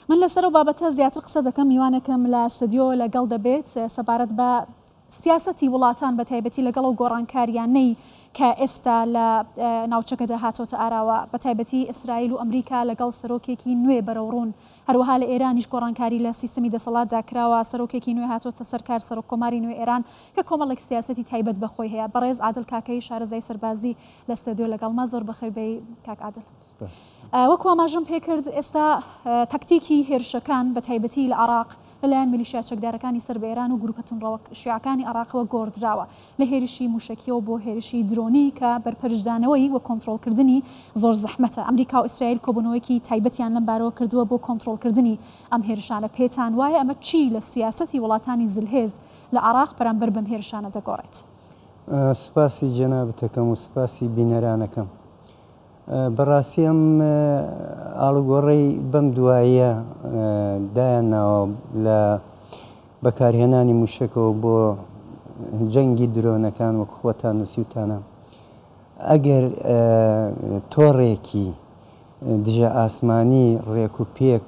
من لەسەر ئەو بابەتە زیاتر قسە دەکەم، میوانێکم لە ستۆدیۆ لەگەڵ دەبێت سەبارەت بە سیاسەتی وڵاتان بە تایبەتی لەگەڵ ئەو گۆڕانکاریانەی کە ئێستا لە ناوچەکەدا هاتۆتە ئاراوە بە تایبەتی ئیسرائیل و ئەمریکا لەگەڵ سەرۆکێکی نوێ بەرەوڕوون هەروەها لە ئێرانیش گۆڕانکاری لە سیستمی دەسەڵاتدا کراوە سەرۆکێکی نوێ هاتۆتە سەر کار سەرۆک کۆماری نوێ ئێران کە کۆمەڵێک سیاسەتی تایبەت بە خۆی هەیە بەڕێز عادل کاکەیی شارەزای سەربازی لە ستۆدیۆ لەگەڵمە زۆر بەخێر بێی کاک عادل. وەکو ئاماژەم پێکرد ئێستا تەکتیکی هێرشەکان بە تایبەتی لە عێراق لەلایەن میلیشیا چەکدارەکانی سەر بە ئێران و گروپە توندڕەوە شیعەکانی عێراقەوە گۆڕدراوە لە هێرشی موشەکیەوە بۆ هێرشی درۆنی کە بەرپەرچدانەوەی و کۆنترۆڵکردنی زۆر زەحمەتە. ئەمریکا و ئیسرائیل کۆبوونەوەیەکی تایبەتیان لەم بارەوە کردووە بۆ کۆنترۆڵکردنی ئەم هێرشانە. پێتان وایە ئەمە چی لە سیاسەتی وڵاتانی زلهێز لە عێراق بەرامبەر بەم هێرشانە دەگۆڕێت؟ سوپاسی جەنابت ئەکەم و سوپاسی بینەرانەکەم. بەڕاستی ئەم ئاڵوگۆڕەی بەم دواییە دایان ناوە لە بەکارهێنانی موشەکەوە بۆ جەنگی درۆنەکان وەک خۆتان نووسیوتانە ئەگەر تۆڕێکی دژە ئاسمانی ڕێک و پێک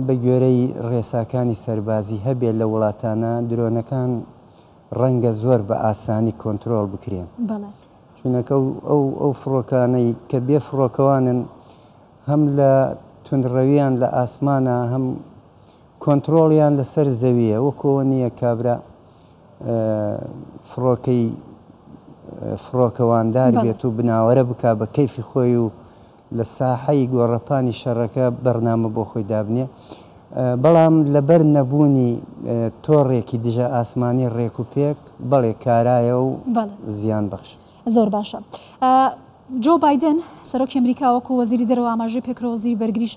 بە گوێرەی ڕێساکانی سەربازی هەبێت لە وڵاتانە درۆنەکان ڕەنگە زۆر بە ئاسانی کۆنترۆڵ بکرێن. چونەکە ئەو ئەو فڕۆکانەی کە بێ فڕۆکەوانن هەم لە توندڕەویان لە ئاسمانە هەم کۆنترۆڵیان لەسەر زەویە وەکەوە نییە کابرا فڕۆکەی فڕۆکەواندار بێت و بناوەرە بک بە کەیفی خۆی و لە ساحەی گۆڕەپانی شەڕەکە بەرنامە بۆ خۆی دابنێ بەڵام لەبەر نەبوونی تۆڕێکی دژە ئاسمانی ڕێک و پێک بەڵێ کارایە و زیان بەخش. زۆر باشە. جۆ بایدن سەرۆکی ئەمریکا وەکو وەزیری دەرەوە ئاماژەی پێکردووە، وەزیری بەرگریش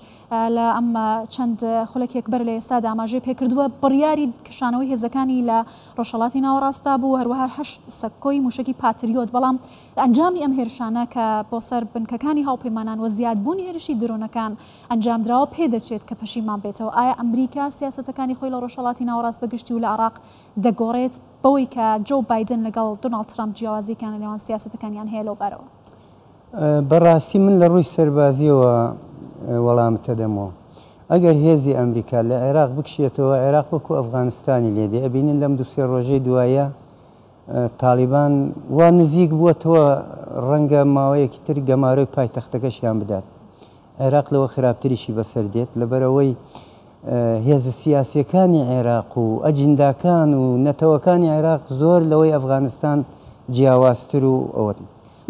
لە ئەم چەند خولەکێک بەر لە ئێستادا ئاماژەی پێکردووە، بڕیاری کشانەوەی هێزەکانی لە ڕۆژهەڵاتی ناوەڕاستدا بوو، هەروەها هەشت سەکۆی مووشەکی پاتریۆت، بەڵام لە ئەنجامی ئەم هێرشانە کە بۆ سەر بنکەکانی هاوپەیمانان و زیادبوونی هێرشی درۆنەکان ئەنجامدراوە، پێدەچێت کە پەشیمان بێتەوە. ئایا ئەمریکا سیاسەتەکانی خۆی لە ڕۆژهەڵاتی ناوەڕاست بە گشتی و لە عێراق دەگۆڕێت بەوەی کە جۆو بایدن لەگەڵ دۆناڵد ترەمپ جیاوازییەکیان لە نێوان سیاسەتەکانیان هەیە لەو بارەوە؟ بە ڕاستی من لە ڕووی سەربازییەوە وەڵامت ئەدەمەوە. ئەگەر هێزی ئەمریکا لە عێراق بکشێتەوە، عێراق وەکوو ئەفغانستانی لێ دێ. ئەبینین لەم دوو سێ ڕۆژەی دوایە تاڵیبان وا نزیک بووەتەوە ڕەنگە ماوەیەکی تر گەمارۆی پایتەختەکەشیان بدات. عێراق لەوە خراپتریشی بەسەر دێت، لەبەرئەوەی هێزە سیاسییەکانی عێراق و ئەجنداکان و نەتەوەکانی عێراق زۆر لەوەی ئەفغانستان جیاوازتر و ئەوەن.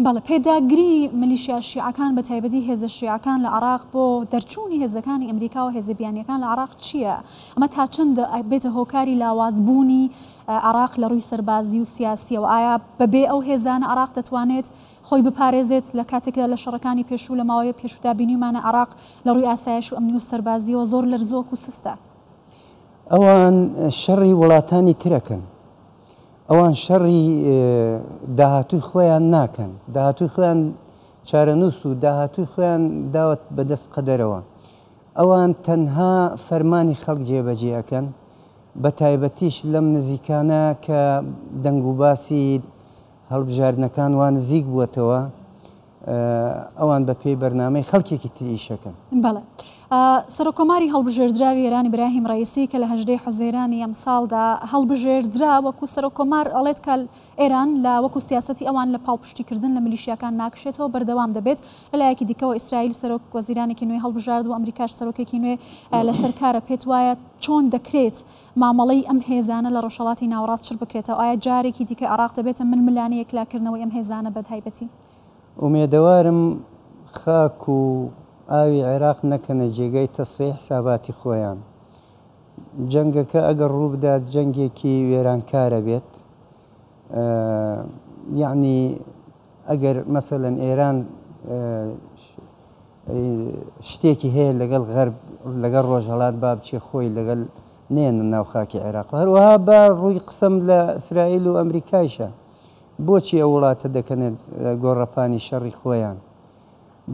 بەڵێ، پێداگری ملیشیا شیعەکان بە تایبەتی هێزە شیعەکان لە عێراق بۆ دەرچوونی هێزەکانی ئەمریکا و هێزە بیانییەکان لە عێراق چییە؟ ئەمە تا چەند دەبێتە هۆکاری لاوازبوونی عێراق لە ڕووی سەربازی و سیاسییەوە؟ ئایا بەبێ ئەو هێزانە عێراق دەتوانێت خۆی بپارێزێت لە کاتێکدا لە شەڕەکانی پێشوو لە ماوەی پێشوودا بینیومانە عێراق لە ڕووی ئاسایش و ئەمنی و سەربازییەوە زۆر لەرزۆک و سستە. ئەوان شەڕی وڵاتانی ترەکەن. ئەوان شەڕی داهاتووی خۆیان ناکەن. داهاتووی خۆیان چارەنووس و داهاتووی خۆیان داوەت بەدەست قەدەرەوە. ئەوان تەنها فەرمانی خەڵک جێبەجێ ئەکەن، بە تایبەتیش لەم نزیکانە کە دەنگوباسی هەڵبژاردنەکان وا نزیک بووەتەوە، ئەوان بە پێی بەرنامەی خەڵکێکی تر ئیشەکەن. بەڵێ. سەرۆککۆماری هەڵبژێردراوی ئێران ئیبراهیم ڕەئیسی کە لە 18 حوزەیرانی ئەمساڵدا هەڵبژێردرا وەکوو سەرۆککۆمار ئەڵێت کە ئێران لە وەکوو سیاسەتی ئەوان لە پاڵپشتیکردن لە میلیشیاکان ناکشێتەوە بەردەوام دەبێت. لە لایەکی دیکەوە ئیسرائیل سەرۆک وەزیرانێکی نوێی هەڵبژارد و ئەمریکاش سەرۆکێکی نوێ لەسەر کارە. پێت وایە چۆن دەکرێت مامەڵەی ئەم هێزانە لە ڕۆژهەڵاتی ناوەڕاست چڕ بکرێتەوە؟ ئایا جارێکی دیکە عێراق دەبێتە ململانێ یەکلاکردنەوەی ئەم هێزانە بە تایبەتی؟ ئومێدەوارم خاک و ئاوی عێراق نەکەنە جێگای تەسفیەی حساباتی خۆیان. جەنگەکە ئەگەر ڕووبدات جەنگێکی وێرانکارە بێت. یەعنی ئەگەر مەسەلەن ئێران شتێکی هەیە لەگەڵ غەرب لەگەڵ ڕۆژهەڵات با بچێ خۆی لەگەڵ نێنە ناو خاکی عێراق هەروەها بە ڕووی قسەم لە ئیسرائیل و ئەمریکایشە بۆچی ئەو وڵاتە دەکەنە گۆڕەپانی شەڕی خۆیان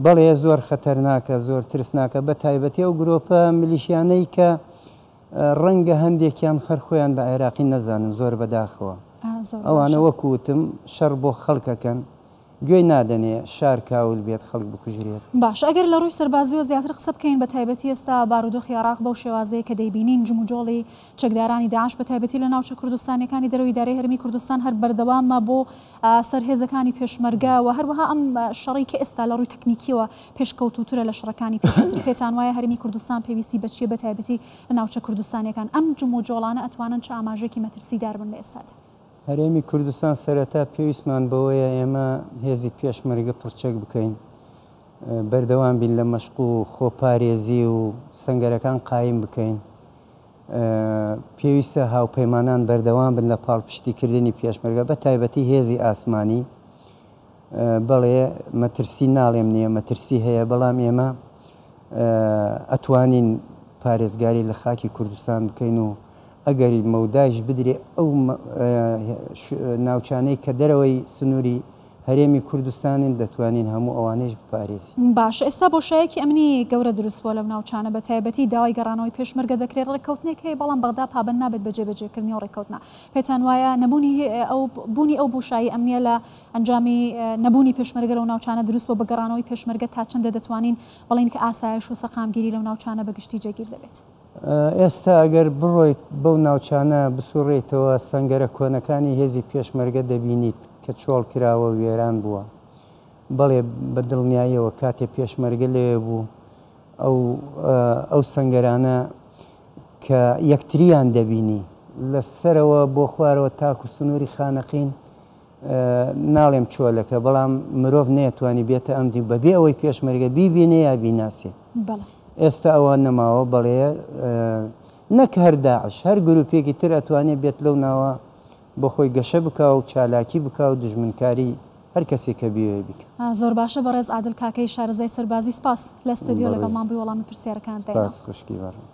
بەڵێ زۆر خەتەرناکە زۆر ترسناکە بە تایبەتی ئەو گرۆپە ملیشیانەی کە ڕەنگە هەندێکیان خەر خۆیان بە عێراقی نەزانن زۆر بەداخەوە ئەوانە وەکوتم شەڕ بۆ خەڵکەکەن. گوێی نادەنێ شار کاول بێت خەڵک بکوژرێت. باشە ئەگەر لە ڕووی سەربازیەوە زیاتر قسە بکەین بە تایبەتی ئێستا بارودۆخی عێراق بەو شێوازەیە کە دەیبینین جموجۆڵی چەکدارانی داعش بە تایبەتی لە ناوچە کوردستانیەکانی دەرەوەی ئیدارەی هەرێمی کوردستان هەر بەردەوامە بۆ سەر هێزەکانی پێشمەرگە و هەروەها ئەم شەڕەی کە ئێستا لە ڕووی تەکنیکیەوە پێشکەوتووترە لە شەڕەکانی پێشووتر پێتان وایە هەرێمی کوردستان پێویستی بە چیە بە تایبەتی لە ناوچە کوردستانیەکان ئەم جموجۆڵانە ئەتوانن چ ئاماژەیەکی مەترسیدار بن لە ئێستادا؟ هەرێمی کوردستان سەرەتا پێویستمان بەوەیە ئێمە هێزی پێشمەرگە پڕچەک بکەین، بەردەوام بین لە مەشق و خۆپارێزی و سەنگەرەکان قایم بکەین. پێویستە هاوپەیمانان بەردەوام بن لە پاڵپشتیکردنی پێشمەرگە بە تایبەتی هێزی ئاسمانی. بەڵێ مەترسی ناڵێم نییە، مەترسی هەیە، بەڵام ئێمە ئەتوانین پارێزگاری لە خاکی کوردستان بکەین و ئەگەر مەودایش بدرێ ئەو ناوچانەی کە دەرەوەی سنووری هەرێمی کوردستانن دەتوانین هەموو ئەوانەیش بپارێزین. باشە ئێستا بۆشایەکی ئەمنی گەورە دروست بووە لەو ناوچانە بە تایبەتی داوای گەڕانەوەی پێشمەرگە دەکرێت ڕێککەوتنێک هەیە بەڵام بەغدا پابەند نابێت بە جێبەجێکردنی ئەو ڕێککەوتنە پێتان وایە نەبوونی ئەو بوونی ئەو بۆشایی ئەمنیە لە ئەنجامی نەبوونی پێشمەرگە لەو ناوچانە دروست بووە بە گەڕانەوەی پێشمەرگە تا چەندە دەتوانین بڵێین کە ئاسایش و سەقامگیری لەو ناوچانە بە گشتی جێگیر دەبێت؟ ئێستا ئەگەر بڕۆیت بەو ناوچانە بسوڕێیتەوە سەنگەرە کۆنەکانی هێزی پێشمەرگە دەبینیت کە چۆڵ کراوە و وێران بووە. بەڵێ بە دڵنیاییەوە کاتێ پێشمەرگە لەوێ بوو ئەو ئەو سەنگەرانە کە یەکتریان دەبینی لە سەرەوە بۆ خوارەوە تاکو سنووری خانەقین ناڵێم چۆلەکە بەڵام مرۆڤ نەیەتوانی بێتە ئەم دیو بەبێ ئەوەی پێشمەرگە بیبینێ یا بیناسێ. ئێستا ئەوە نەماوە بەڵێ نەک هەر داعش هەر گروپێکی تر ئەتوانێ بێت لەو ناوە بۆ خۆی گەشە بکا و چالاکی بکا و دوژمنکاری هەر کەسێک کە بیەوێ بیکا. زۆر باشە بەڕێز عادل کاکەیی شارەزای سەربازی سپاس لە ستەدیۆ لەگەڵمان بووی وەڵامی پرسیارەکانت داینەوە. سپاس خوشکی بەڕێز.